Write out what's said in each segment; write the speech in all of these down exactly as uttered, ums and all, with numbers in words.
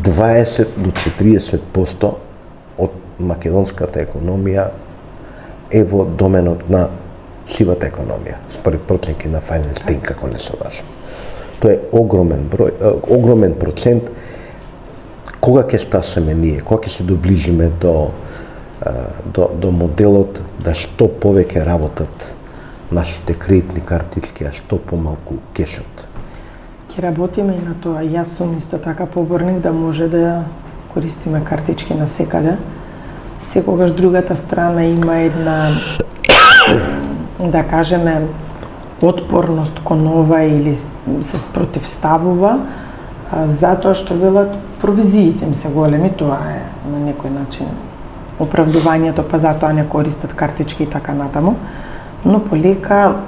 дваесет до четириесет проценти од македонската економија е во доменот на сивата економија, според проценки на Finance Think, како не се лажам. Тоа е огромен број, огромен процент. Кога ќе стасеме ние, кога ќе се доближиме до, до, до моделот да што повеќе работат нашите кредитни картички, а што помалку кешот? Ќе работиме и на тоа. Јас сум исто така поборник да може да користиме картички на секаде. Секогаш другата страна има една, да кажеме, отпорност кон ова или се спротивставува, затоа што велат провизиите им се големи, тоа е на некој начин оправдувањето, па затоа не користат картички и така натаму, но полека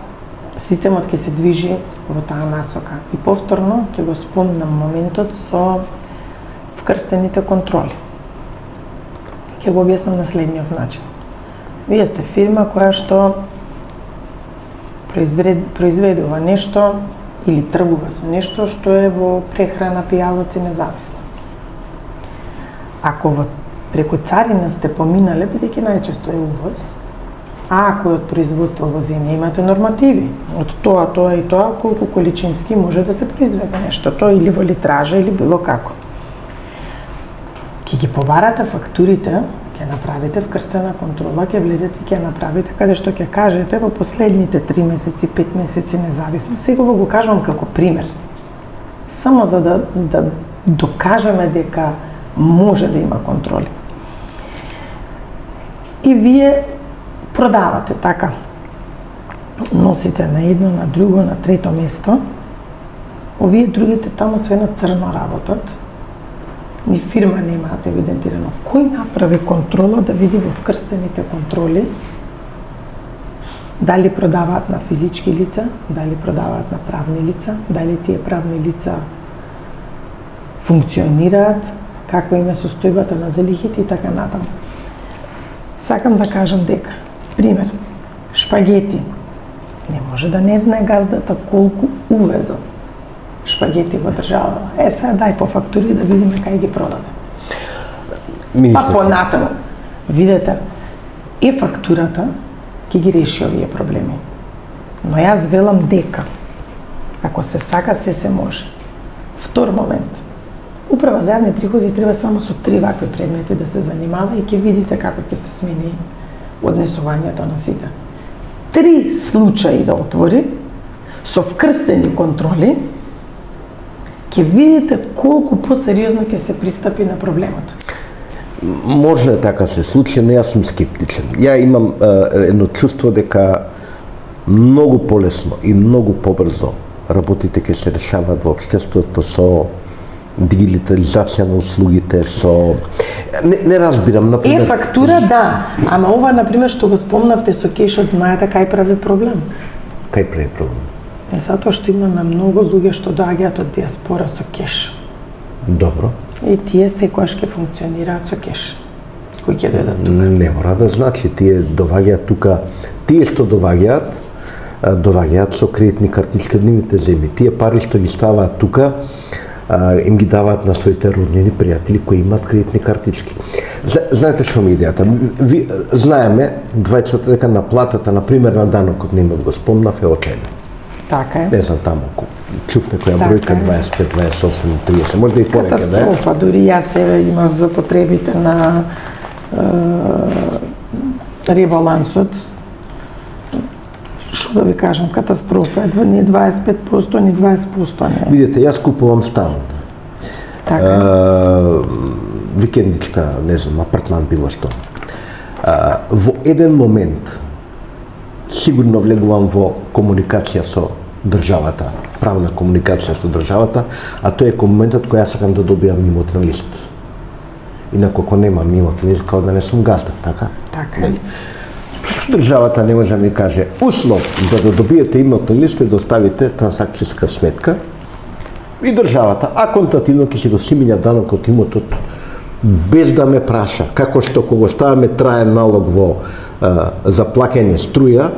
системот ќе се движи во таа насока. И повторно ќе го спомнам моментот со вкрстените контроли. Ќе го објаснам на следниот начин. Вие сте фирма која што произведува нешто или тргува со нешто што е во прехрана, пијалоци, независно. Ако во преку царина сте поминале, бидејќи најчесто е увоз, а ако од производство во земја имате нормативи, од тоа, тоа и тоа, колку количински може да се произведе нештото, или во литража, или било како. Ке ги побарате фактурите, ќе направите вкрстена контрола, ќе влезете и ќе направите каде што ќе кажете во последните три месеци, пет месеци, независно. Сега го кажувам како пример. Само за да, да докажеме дека може да има контроли. И вие продавате така. Носите на едно, на друго, на трето место. Овие другите таму све на црно работат. Ни фирма не имаат евидентирано. Кој направи контрола да види во вкрстените контроли дали продаваат на физички лица, дали продаваат на правни лица, дали тие правни лица функционираат, како им е состојбата на залихите и така натаму. Сакам да кажам дека, пример, шпагети. Не може да не знае газдата колку увезот шпагети во држава. Е, сега дај по фактури да видиме кај ги продаде. Па понатаму, видете, е фактурата ќе ги реши овие проблеми. Но јас велам дека, ако се сака, се се може. Втор момент, Управа за јавни приходи треба само со три вакви предмети да се занимава и ќе видите како ќе се смени однесувањето на сите. Три случаи да отвори, со вкрстени контроли, ќе видите колку посериозно ќе се пристапи на проблемот. Може така се случи, но јас сум скептичен. Ја имам е, едно чувство дека многу полесно и многу побрзо работите ќе се решаваат во општеството со дигитализација на услугите, со... Не, не разбирам, например... Е, фактура, да. Ама ова, например, што го спомнавте со кешот, знаете кај прави проблем? Кај прави проблем? Е, затоа што имаме многу луѓе што доаѓаат од диаспора со кеш. Добро. И тие секогаш ќе функционираат со кеш. Кои ќе дојдат тука? Не мора да значи, тие доваѓаат тука, тие што доваѓаат, доваѓаат со кредитни картички од нивните земји. Тие пари што ги ставаат тука, им ги даваат на своите роднини, пријатели кои имаат кредитни картички. Знаете што ми идејата? Ви знаеме двајцата дека наплатата, например, на данокот на имот го спомнав е очајна. Така е. Не знам таму, чув некоја бројка дваесет и пет, дваесет и осум, триесет, може да и повеќе, да е? Катастрофа, дури јас еве имав за потребите на е, ребалансот. Што да ви кажам, катастрофа, едва не дваесет и пет проценти, ни дваесет проценти не. Видите, јас купувам стан. Така. Uh, викендичка, не знам, апартман, било што. Uh, во еден момент сигурно влегувам во комуникација со државата, правна комуникација со државата, а тој е моментот кој јас сакам да добијам имотен лист. Инаку ако немам имотен лист, као да не сум газда, така? Така е. Државата не може да ми каже услов за да добиете имотен лист е да оставите трансакцијска сметка и државата, а контативно ќе си го симиња данок од имотот без да ме праша, како што кога ставаме траен налог во а, за плаќање струја,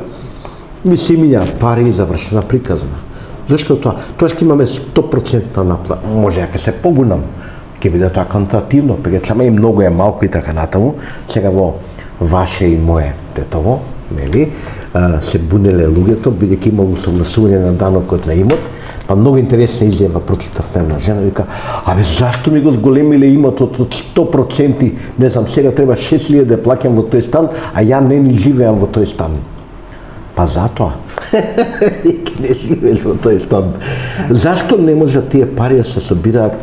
ми симиња пари и завршена приказна. Зашто тоа? Тоа ќе имаме сто проценти наплата. Може ја ќе се погунам, ќе биде тоа контративно, пред сама и многу е малку и така натаму. Сега во ваше и мое детово, нели, се бунеле луѓето, бидејќи имало согласување на данокот на имот, па многу интересна изјава прочитав на една жена, вика, абе зашто ми го зголемиле имотот од сто проценти, не знам, сега треба шест илјади да плаќам во тој стан, а ја не ни живеам во тој стан. Па затоа, веќе не живееш во тој стан. Зашто не може тие пари да се собираат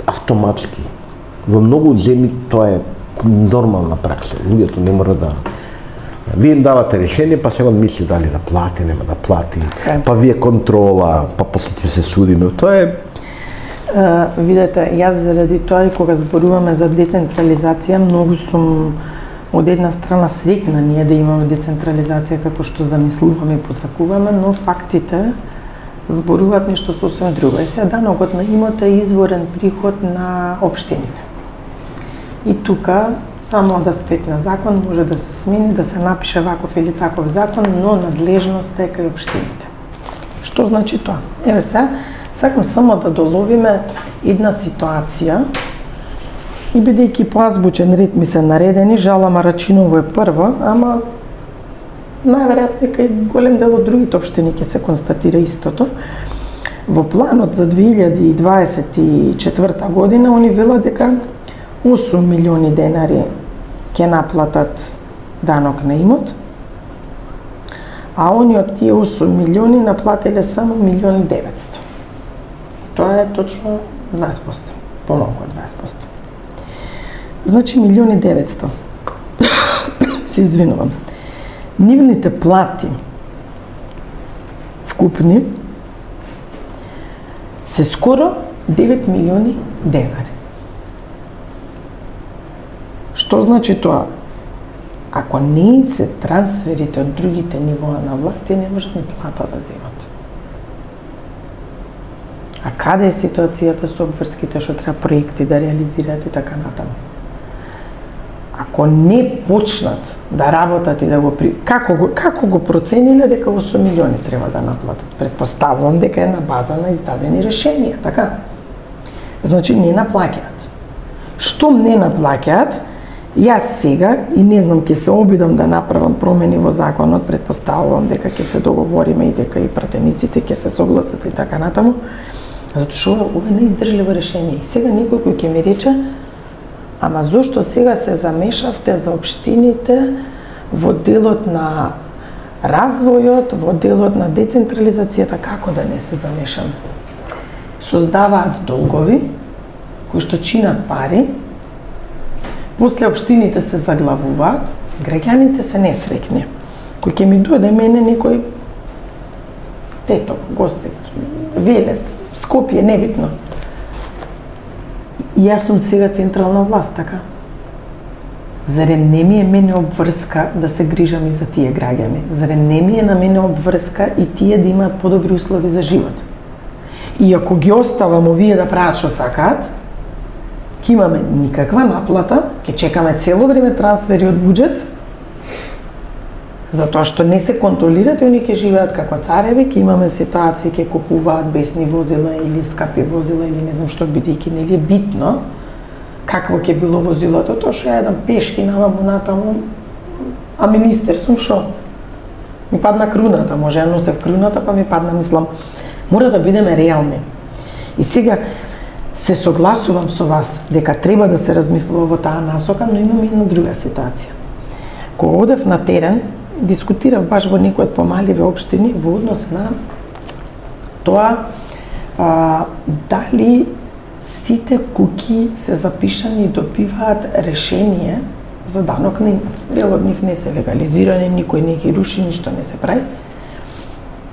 автоматски? Во многу земји тоа е нормална пракса. Луѓето не мора да... Вие им давате решение, па сега мисли дали да плати, нема да плати, па вие контрола, па после ќе се судиме. Тоа е... Uh, видете, јас заради тоа и кога зборуваме за децентрализација, многу сум од една страна среќна ние да имаме децентрализација како што замислуваме и посакуваме, но фактите зборуваат нешто сосем друго. Е, сега данокот на имот е изворен приход на општините. И тука само од аспект на закон може да се смени, да се напише ваков или таков закон, но надлежност е кај општините. Што значи тоа? Еве се, сакам само да доловиме една ситуација и бидејќи по азбучен ред ми се наредени, Жала Марачиново е прва, ама најверојатно кај голем дел од другите општини ќе се констатира истото. Во планот за две илјади и дваесет и четврта година они велат дека осум милиони денари ќе наплатат данок на имот, а они од тие осум милиони наплатиле само милион и деветсто. Тоа е точно дваесет проценти, помалку од дваесет проценти. Значи милион и деветсто. Се извинувам. Нивните плати вкупни се скоро девет милиони денари. Што значи тоа? Ако не се трансферите од другите нивоа на власт, тие не можат ни плата да земат. А каде е ситуацијата со обврските што треба проекти да реализираат и така натаму? Ако не почнат да работат и да го при... како го како го процениле дека осум милиони треба да наплатат? Предпоставувам дека е на база на издадени решенија, така? Значи не наплаќаат. Штом не наплаќаат, јас сега и не знам ќе се обидам да направам промени во законот, предпоставувам дека ќе се договориме и дека и пратениците ќе се согласат и така натаму, затоа што ова е неиздржливо решение. И сега некој кој ќе ми рече, ама зошто сега се замешавте за општините во делот на развојот, во делот на децентрализацијата, како да не се замешаме? Создаваат долгови кои што чинат пари, после општините се заглавуваат, граѓаните се несреќни. Кој ќе ми дојде мене некој тето, гости, Велес, Скопје, небитно. И јас сум сега централна власт, така? Зарем не ми е мене обврска да се грижам и за тие граѓани? Зарем не ми е на мене обврска и тие да имаат подобри услови за живот? И ако ги оставам овие да прават што сакаат, ќе имаме никаква наплата, ќе чекаме цело време трансфери од буџет, затоа што не се контролираат и они ќе живеат како цареви, ќе имаме ситуации, ќе купуваат бесни возила или скапи возила или не знам што, бидејќи нели е битно какво ќе било возилото, тоа што ја едам пешки наваму натаму, а министер сум шо? Ми падна круната, може ја носев круната, па ми падна, мислам, мора да бидеме реални. И сега се согласувам со вас дека треба да се размислува во таа насока, но имам една друга ситуација. Кога одев на терен, дискутирав баш во некои од помаливе општини во однос на тоа а, дали сите куќи се запишани и добиваат решение за данок на имот. Дел од нив не се легализирани, никој не ги руши, ништо не се прави.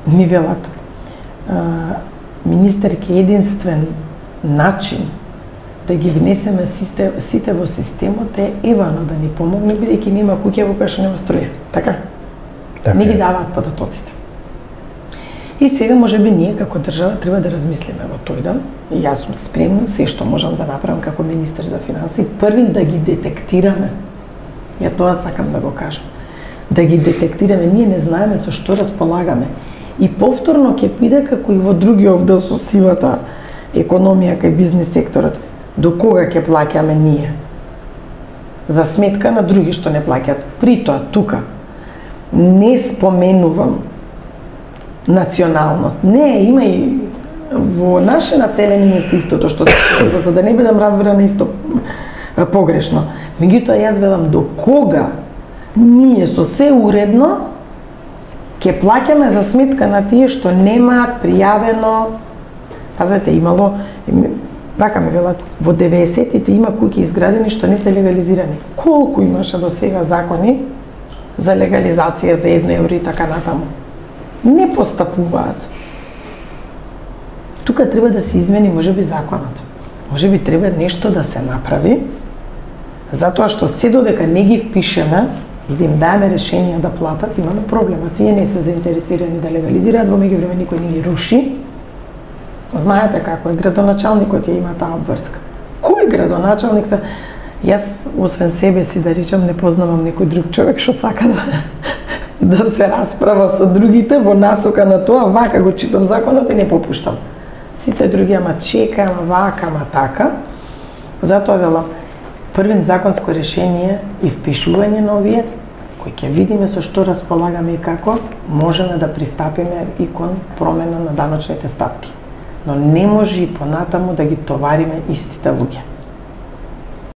Ми велат, а, министерке, единствен начин да ги внесеме сите, сите во системот е Евано да ни помогне, бидејќи нема куќа во која што нема струја. Така? Така не ги даваат податоците. И сега можеби ние како држава треба да размислиме во тој дел. И јас сум спремна се што можам да направам како министер за финансии, први да ги детектираме. Ја тоа сакам да го кажам. Да ги детектираме, ние не знаеме со што располагаме. И повторно ќе биде како и во другиот дел со сивата економија кај бизнис секторот. До кога ќе плаќаме ние? За сметка на други што не плаќаат. Притоа, тука, не споменувам националност. Не, има и во наше населени места истото што се случува, за да не бидам разбрана исто погрешно. Меѓутоа, јас велам до кога ние со се уредно ќе плаќаме за сметка на тие што немаат пријавено. Пазете, имало, вака ми велат, во деветдесетите има куќи изградени што не се легализирани. Колку имаше до сега закони за легализација за едно евро и така натаму? Не постапуваат. Тука треба да се измени можеби законот. Можеби треба нешто да се направи, затоа што се додека не ги впишеме и да им даеме решенија да платат, имаме проблема. Тие не се заинтересирани да легализираат, во меѓувреме никој не ги руши. Знаете како е, градоначалникот ја има таа обврска. Кој градоначалник се... Јас, освен себе си, да речам, не познавам некој друг човек што сака да, да се расправа со другите во насока на тоа, вака го читам законот и не попуштам. Сите други, ама чека, ама вака, ама така. Затоа велам, првен законско решение и впишување на овие, кои ќе видиме со што располагаме и како, можеме да пристапиме и кон промена на даночните стапки. Но не може и понатаму да ги товариме истите луѓе.